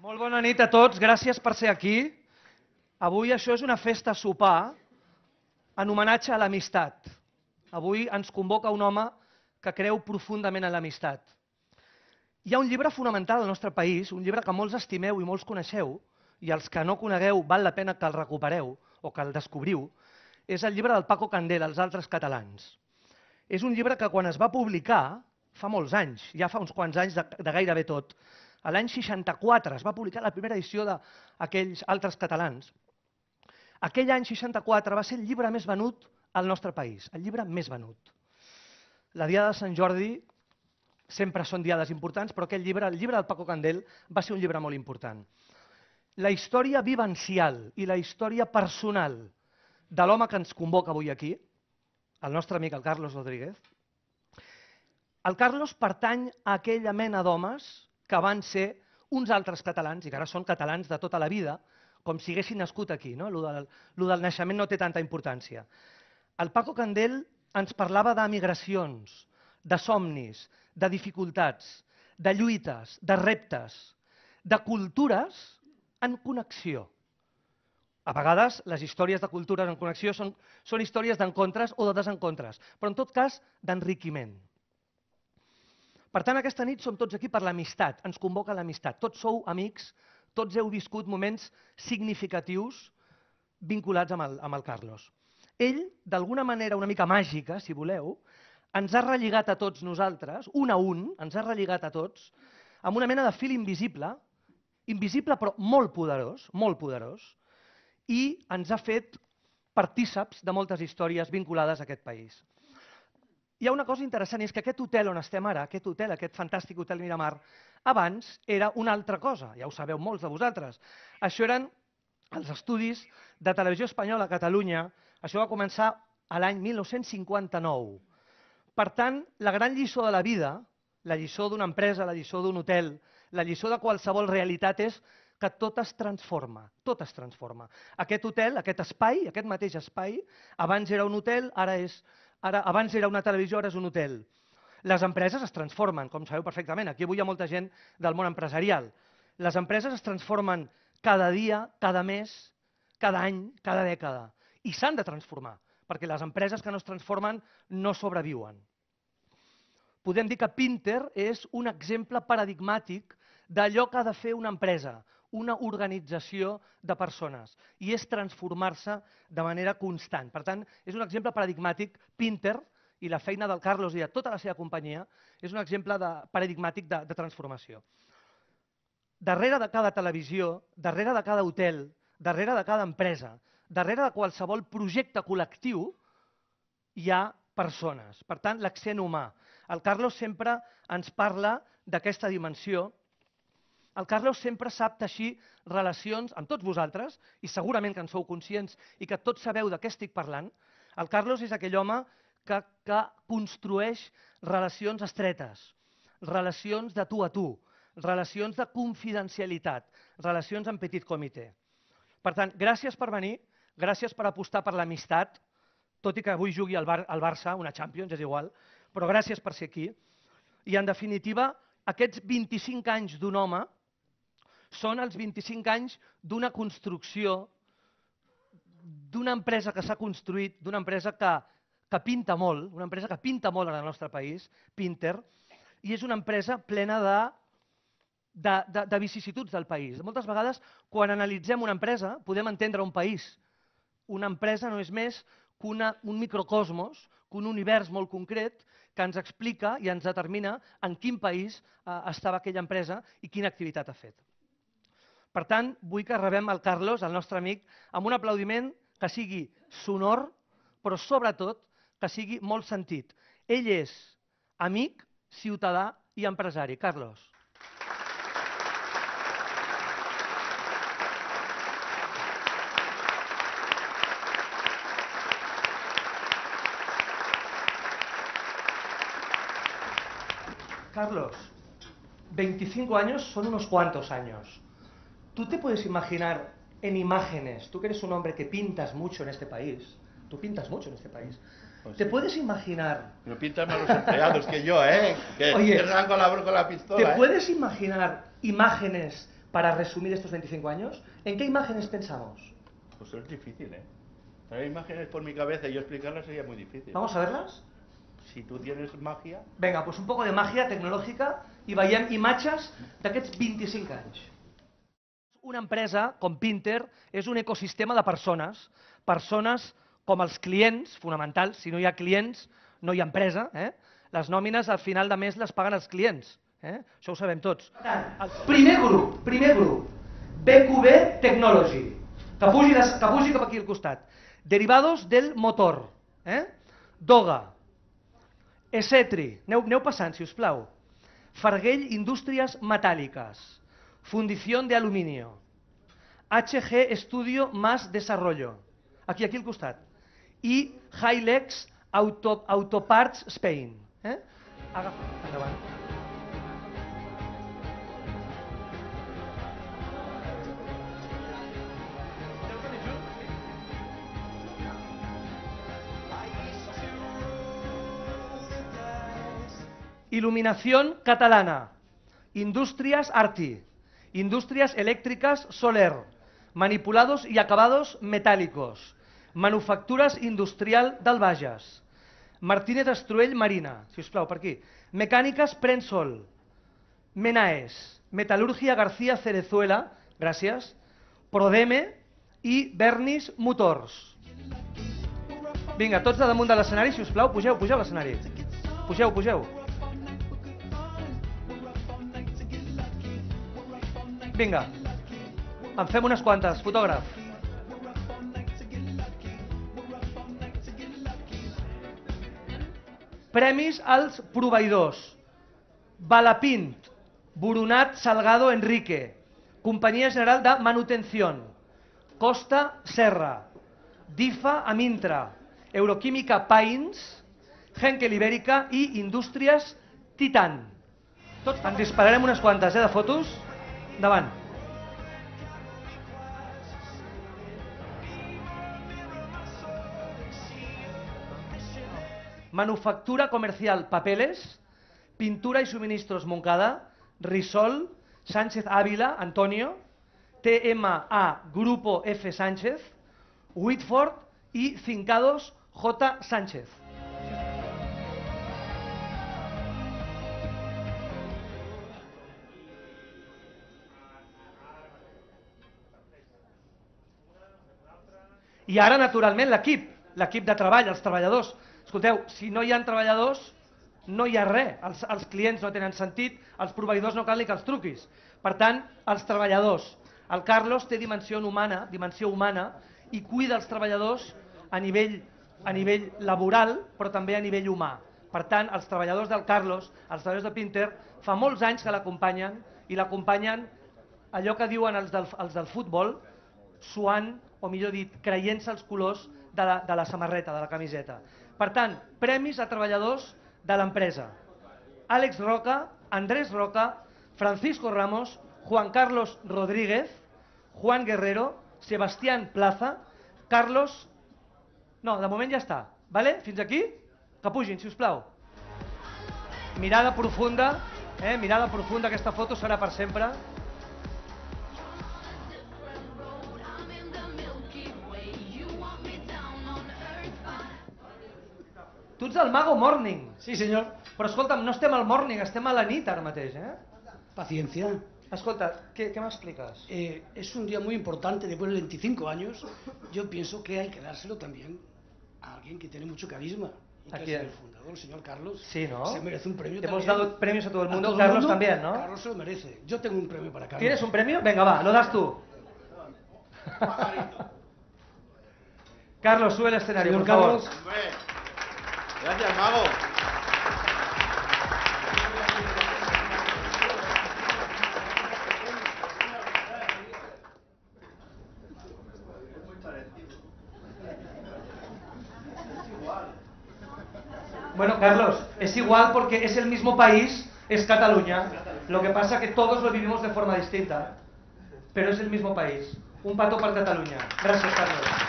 Molt bona nit a tots, gràcies per ser aquí. Avui això és una festa sopar en homenatge a l'amistat. Avui ens convoca un home que creu profundament en l'amistat. Hi ha un llibre fonamental al nostre país, un llibre que molts estimeu i molts coneixeu, i els que no conegueu val la pena que el recupereu o que el descobriu, és el llibre del Paco Candel, Els altres catalans. És un llibre que quan es va publicar, fa molts anys, ja fa uns quants anys de gairebé tot, a l'any 64 es va publicar la primera edició d'Aquells altres catalans. Aquell any 64 va ser el llibre més venut al nostre país, el llibre més venut. La Diada de Sant Jordi sempre són diades importants, però aquell llibre, el llibre del Paco Candel, va ser un llibre molt important. La història vivencial i la història personal de l'home que ens convoca avui aquí, el nostre amic, el Carlos Rodríguez. El Carlos pertany a aquella mena d'homes que van ser uns altres catalans, i que ara són catalans de tota la vida, com si haguessin nascut aquí. No? Lo del naixement no té tanta importància. El Paco Candel ens parlava d'emigracions, de somnis, de dificultats, de lluites, de reptes, de cultures en connexió. A vegades les històries de cultures en connexió són històries d'encontres o de desencontres, però en tot cas d'enriquiment. Per tant, aquesta nit som tots aquí per l'amistat, ens convoca l'amistat. Tots sou amics, tots heu viscut moments significatius vinculats amb el Carlos. Ell, d'alguna manera una mica màgica, si voleu, ens ha relligat a tots nosaltres, un a un, ens ha relligat a tots, amb una mena de fil invisible, invisible però molt poderós, i ens ha fet partíceps de moltes històries vinculades a aquest país. Hi ha una cosa interessant, és que aquest hotel on estem ara, aquest hotel, aquest fantàstic hotel Miramar, abans era una altra cosa, ja ho sabeu molts de vosaltres. Això eren els estudis de Televisió Espanyola a Catalunya, això va començar a l'any 1959. Per tant, la gran lliçó de la vida, la lliçó d'una empresa, la lliçó d'un hotel, la lliçó de qualsevol realitat és que tot es transforma, tot es transforma. Aquest hotel, aquest espai, aquest mateix espai, abans era un hotel, abans era una televisió, ara és un hotel. Les empreses es transformen, com sabeu perfectament. Aquí avui hi ha molta gent del món empresarial. Les empreses es transformen cada dia, cada mes, cada any, cada dècada. I s'han de transformar, perquè les empreses que no es transformen no sobreviuen. Podem dir que Pinter és un exemple paradigmàtic d'allò que ha de fer una empresa, una organització de persones, i és transformar-se de manera constant. Per tant, és un exemple paradigmàtic. Pinter i la feina del Carlos i de tota la seva companyia és un exemple paradigmàtic de transformació. Darrere de cada televisió, darrere de cada hotel, darrere de cada empresa, darrere de qualsevol projecte col·lectiu, hi ha persones. Per tant, l'accent humà. El Carlos sempre ens parla d'aquesta dimensió. El Carlos sempre sap teixir relacions amb tots vosaltres, i segurament que en sou conscients i que tots sabeu de què estic parlant. El Carlos és aquell home que construeix relacions estretes, relacions de tu a tu, relacions de confidencialitat, relacions en petit comitè. Per tant, gràcies per venir, gràcies per apostar per l'amistat, tot i que avui jugui al Barça, una Champions, és igual, però gràcies per ser aquí. I, en definitiva, aquests 25 anys d'un home són els 25 anys d'una construcció, d'una empresa que s'ha construït, d'una empresa que pinta molt, una empresa que pinta molt en el nostre país, Pinter, i és una empresa plena de vicissituds del país. Moltes vegades, quan analitzem una empresa, podem entendre un país. Una empresa no és més que un microcosmos, que un univers molt concret que ens explica i ens determina en quin país estava aquella empresa i quina activitat ha fet. Per tant, vull que rebem el Carlos, el nostre amic, amb un aplaudiment que sigui sonor, però sobretot que sigui molt sentit. Ell és amic, ciutadà i empresari. Carlos. Carlos, 25 años son unos cuantos años. ¿Tú te puedes imaginar en imágenes, tú que eres un hombre que pintas mucho en este país, tú pintas mucho en este país, pues ¿te puedes imaginar? Pero pintan más los empleados que yo, ¿eh? Que arranco con la pistola. ¿Te puedes imaginar imágenes para resumir estos 25 años, ¿en qué imágenes pensamos? Pues es difícil, ¿eh? Traer imágenes por mi cabeza y yo explicarlas sería muy difícil. ¿Vamos a verlas? Si tú tienes magia... Vinga, doncs un poco de màgia tecnològica i veiem imatges d'aquests 25 anys. Una empresa com Pinter és un ecosistema de persones, persones com els clients, fonamentals. Si no hi ha clients, no hi ha empresa. Les nòmines al final de mes les paguen els clients. Això ho sabem tots. El primer grup, BQB Technology, que pugi cap aquí al costat. Derivados del motor. Doga. Essetri. Aneu passant, si us plau. Farguell Indústries Metàl·liques. Fundición de Aluminio. HG Estudio más Desarrollo. Aquí al costat. I Hilex Autoparts Spain. Agafa, endavant. Iluminación Catalana, Industrias Arti, Industrias Eléctricas Soler, Manipulados y Acabados Metálicos, Manufacturas Industrial del Bages, Martínez Estruell Marina, si us plau, per aquí, Mecàniques Prensol, Menaes, Metal·lúrgia García Cerezuela, gràcies, Prodeme i Bernis Motors. Vinga, tots a damunt de l'escenari, si us plau, pugeu a l'escenari. Pugeu. Vinga, en fem unes quantes, fotògraf. Premis als proveïdors. Balapint, Boronat Salgado Enrique, Companyia General de Manutención, Costa Serra, DIFA Amintra, Euroquímica Pains, Henkel Ibèrica i Indústries Titan. En dispararem unes quantes de fotos. Endavant. Manufactura Comercial Papeles, Pintura y Suministros Moncada, Risol, Sánchez Ávila, Antonio, TMA Grupo F. Sánchez, Whitford y Fincados J. Sánchez. I ara, naturalment, l'equip de treball, els treballadors. Escolteu, si no hi ha treballadors, no hi ha res. Els clients no tenen sentit, els proveïdors no cal ni que els truquis. Per tant, els treballadors. El Carlos té dimensió humana i cuida els treballadors a nivell laboral, però també a nivell humà. Per tant, els treballadors del Carlos, els treballadors de Pinter, fa molts anys que l'acompanyen i l'acompanyen allò que diuen els del futbol, suant, o millor dit, creient-se els colors de la samarreta, de la camiseta. Per tant, premis a treballadors de l'empresa. Àlex Roca, Andrés Roca, Francisco Ramos, Juan Carlos Rodríguez, Juan Guerrero, Sebastián Plaza, Carlos... No, de moment ja està. Fins aquí? Que pugin, si us plau. Mirada profunda, aquesta foto serà per sempre. Tu ets el Mago Morning. Sí, senyor. Però escolta'm, no estem al morning, estem a la nit ara mateix, Paciencia. Escolta, ¿qué me explicas? Es un día muy importante, después de 25 años, yo pienso que hay que dárselo también a alguien que tiene mucho carisma. Y que es el fundador, el señor Carlos. Sí, ¿no? Se merece un premio Hemos también. dado premios a todo el mundo, Carlos también, ¿no? Carlos se lo merece. Yo tengo un premio para Carlos. ¿Tienes un premio? Venga, va, lo das tú. Carlos, sube al escenario, Señor por favor. Carlos. Gracias, Mago. Bueno, Carlos, es igual porque es el mismo país, es Cataluña. Lo que pasa que todos lo vivimos de forma distinta, pero es el mismo país. Un pato para Cataluña. Gracias, Carlos.